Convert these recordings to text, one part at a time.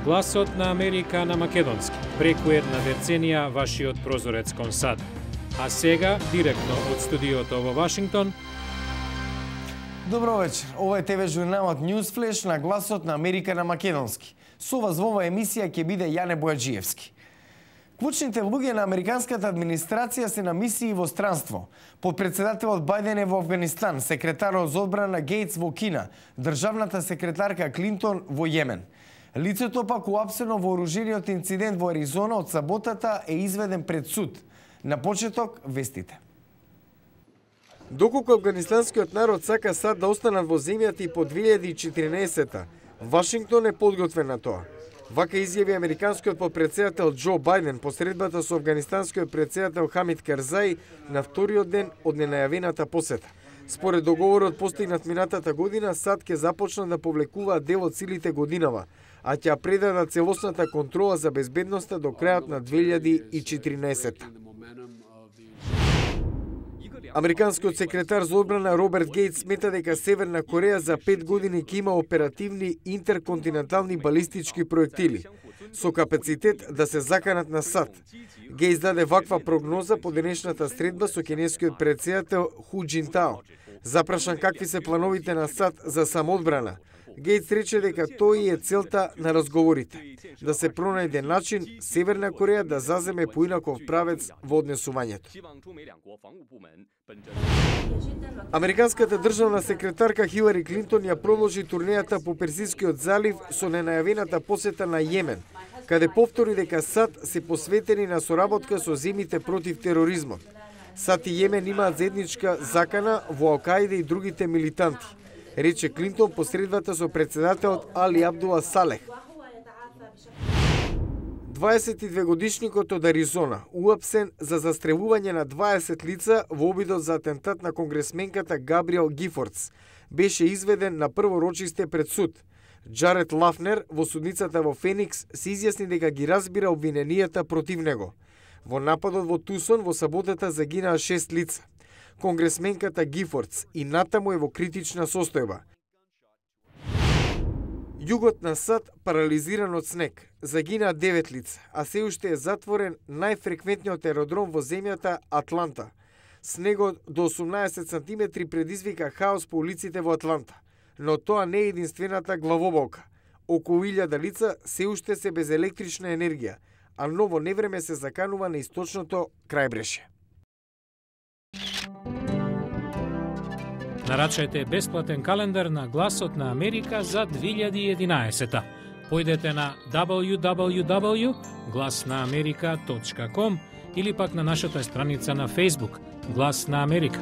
Гласот на Америка на македонски, преку една деценија вашиот прозорец кон САД. А сега, директно од студиото во Вашингтон. Добро вечер. Ова е ТВ журналот Newsflash на Гласот на Америка на македонски. Со вас во оваа емисија ќе биде Јане Бојаджиевски. Клучните луѓе на американската администрација се на мисии во странство. Подпредседателот Бајден е во Афганистан, секретарот за одбрана Гейтс во Кина, државната секретарка Клинтон во Јемен. Лицето пак уапсено во оружениот инцидент во Аризона од саботата е изведен пред суд. На почеток, вестите. Доколку афганистанскиот народ сака САД да останат во земјата и по 2014-та, Вашингтон е подготвен на тоа. Вака изјави американскиот подпредседател Џо Бајден по средбата со афганистанскиот председател Хамид Карзаи на вториот ден од ненајавената посета. Според договорот постигнат минатата година, САД ќе започнат да повлекуваат дел од силите годинава, а ќе предадат целосната контрола за безбедноста до крајот на 2014. Американскиот секретар за одбрана Роберт Гейтс смета дека Северна Кореја за 5 години ќе има оперативни интерконтинентални балистички проектили со капацитет да се заканат на САД. Гейтс даде ваква прогноза по денешната средба со кинескиот председател Ху Џинтао. Запрашан какви се плановите на САД за самоодбрана, Гейтс рече дека тој е целта на разговорите, да се пронајде начин Северна Кореја да заземе поинаков правец во однесувањето. Американската државна секретарка Хилари Клинтон ја продолжи турнејата по Персискиот залив со ненајавената посета на Јемен, каде повтори дека САД се посветени на соработка со земјите против тероризмот. САД и Јемен имаат заедничка закана во Ал-Каида и другите милитанти, рече Клинтон по средбата со председателот Али Абдула Салех. 22-годишникот од Аризона, уапсен за застрелување на 20 лица во обидот за атентат на конгресменката Габриел Гифордс, беше изведен на прво рочисте пред суд. Джаред Лафнер во судницата во Феникс се изјасни дека ги разбира обвиненијата против него. Во нападот во Тусон во саботата загинаа 6 лица. Конгресменката Гифордс и натаму е во критична состојба. Југот на САД парализиран од снег. Загинаа 9 лица, а се уште е затворен најфреквентниот аеродром во земјата Атланта. Снегот до 18 сантиметри предизвика хаос по улиците во Атланта, но тоа не е единствената главоболка. Околу 1000 лица се уште се без електрична енергија, а ново невреме се заканува на источното крајбрежје. Нарачајте бесплатен календар на Гласот на Америка за 2011. Појдете на www.glasnaamerika.com или пак на нашата страница на Facebook Глас на Америка.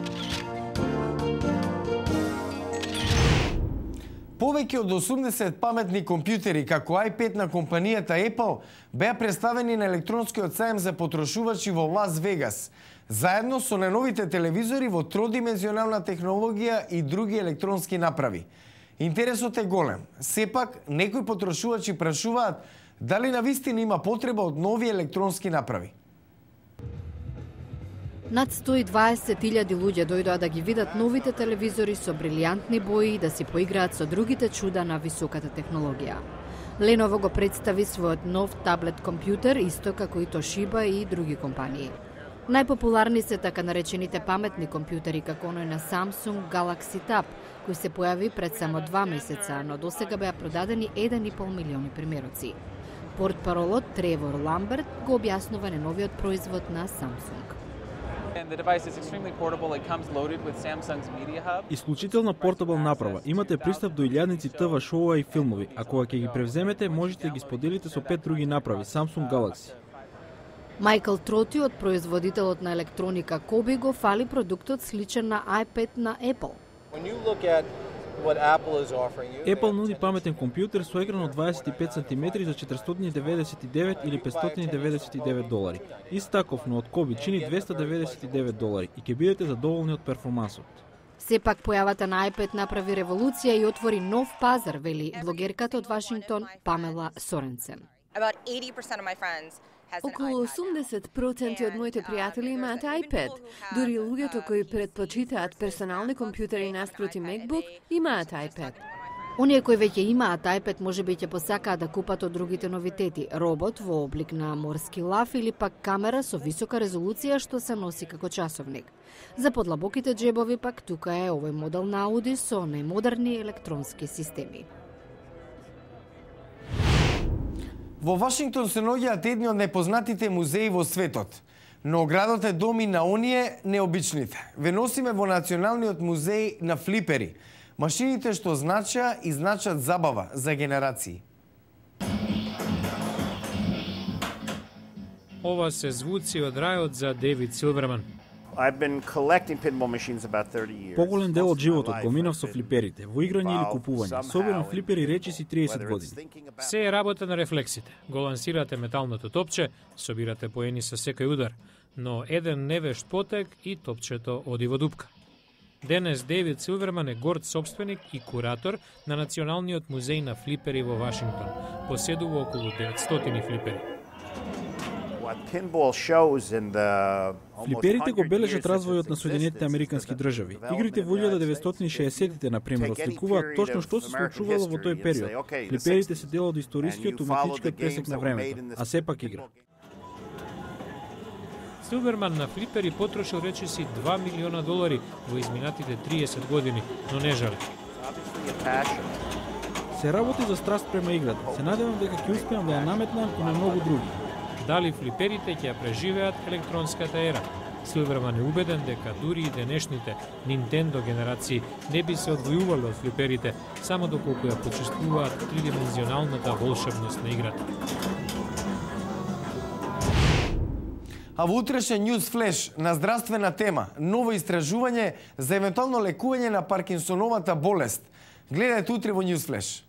Повеќе од 80 паметни компјутери како iPad на компанијата Apple беа представени на електронскиот сајм за потрошувачи во Лас Вегас, заедно со најновите телевизори во тродимензионална технологија и други електронски направи. Интересот е голем. Сепак, некои потрошувачи прашуваат дали навистина има потреба од нови електронски направи. Над 120.000 луѓе дојдоа да ги видат новите телевизори со брилијантни бои и да си поиграат со другите чуда на високата технологија. Lenovo го представи својот нов таблет компјутер, исто како и Toshiba и други компании. Најпопуларни се така наречените паметни компјутери како оној на Samsung Galaxy Tab, кој се појави пред само 2 месеца, но досега беа продадени 1,5 милиони примероци. Портпаролот Тревор Ламберт го објаснува на новиот производ на Samsung. Исклучителна портабл направа. Имате пристап до илјадници ТВ шоуа и филмови, а кога ќе ги превземете, можете да ги споделите со 5 други направи Samsung Galaxy. Майкл Троти од производителот на електроника Коби го фали продуктот сличен на iPad на Apple. Apple нуди паметен компјутер со екран од 25 см за 499 или 599 долари. Ист таков, но од Коби чини 299 долари и ќе бидете задоволни од перформансот. Сепак појавата на iPad направи револуција и отвори нов пазар, вели блогерката од Вашингтон Памела Соренсен. Околу 80% од моите пријатели имаат iPad. Дури луѓето кои предпочитаат персонални компјутери наспроти MacBook имаат iPad. Оние кои веќе имаат iPad можеби ќе посакаат да купат од другите новитети, робот во облик на морски лав или пак камера со висока резолуција што се носи како часовник. За подлабоките џебови пак тука е овој модел на Ауди со најмодерни електронски системи. Во Вашингтон се наоѓаат едни од најпознатите музеи во светот, но градот е доми на оние необичните. Ве носиме во Националниот музеј на флипери, машините што значат и значат забава за генерации. Ова се звуци од рајот за Дейвид Силверман. Поголем дел од животот го минав со флиперите, во играње или купување. Собирам флипери речиси 30 години. Се е работа на рефлексите. Го лансирате металното топче, собирате поени со секој удар, но еден невешт потек и топчето оди во дупка. Денес Дейвид Силверман е горд собственик и куратор на Националниот музеј на флипери во Вашингтон. Поседува околу 900 флипери. Флиперите го бележат развојот на Соединетите Американски држави. Игрите во 1960-тите, например, осликуваат точно што се случувало во тој период. Флиперите се дел од историскиот уметничкиот пресек на времето, а сепак игра. Силверман на флипери потрошил речиси $2 милиона во изминатите 30 години, но не жали. Се работи за страст према играта. Се надевам дека ќе успеам да ја наметнам и на многу други. Дали флиперите ќе ја преживеат електронската ера? Силверман е убеден дека дури и денешните Nintendo генерации не би се одвојували од флиперите, само доколку ја почувствуваат тридимензионалната волшебност на играта. А во утрешен News Flash на здравствена тема, ново истражување за евентуално лекување на Паркинсоновата болест. Гледајте утре во News Flash.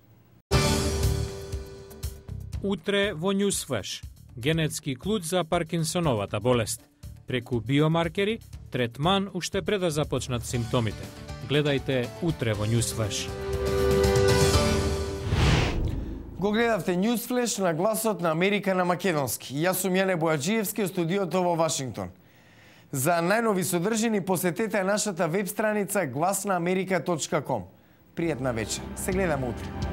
Утре во News Flash. Генетски клуч за Паркинсоновата болест. Преку биомаркери, третман уште пред да започнат симптомите. Гледајте утре во News Flash. Го гледавте News Flash на гласот на Америка на македонски. Јас сум Јане Бојаджиевски од студиото во Вашингтон. За најнови содржини посетете нашата веб страница glasnaamerika.com. Пријатна вечер. Се гледаме утре.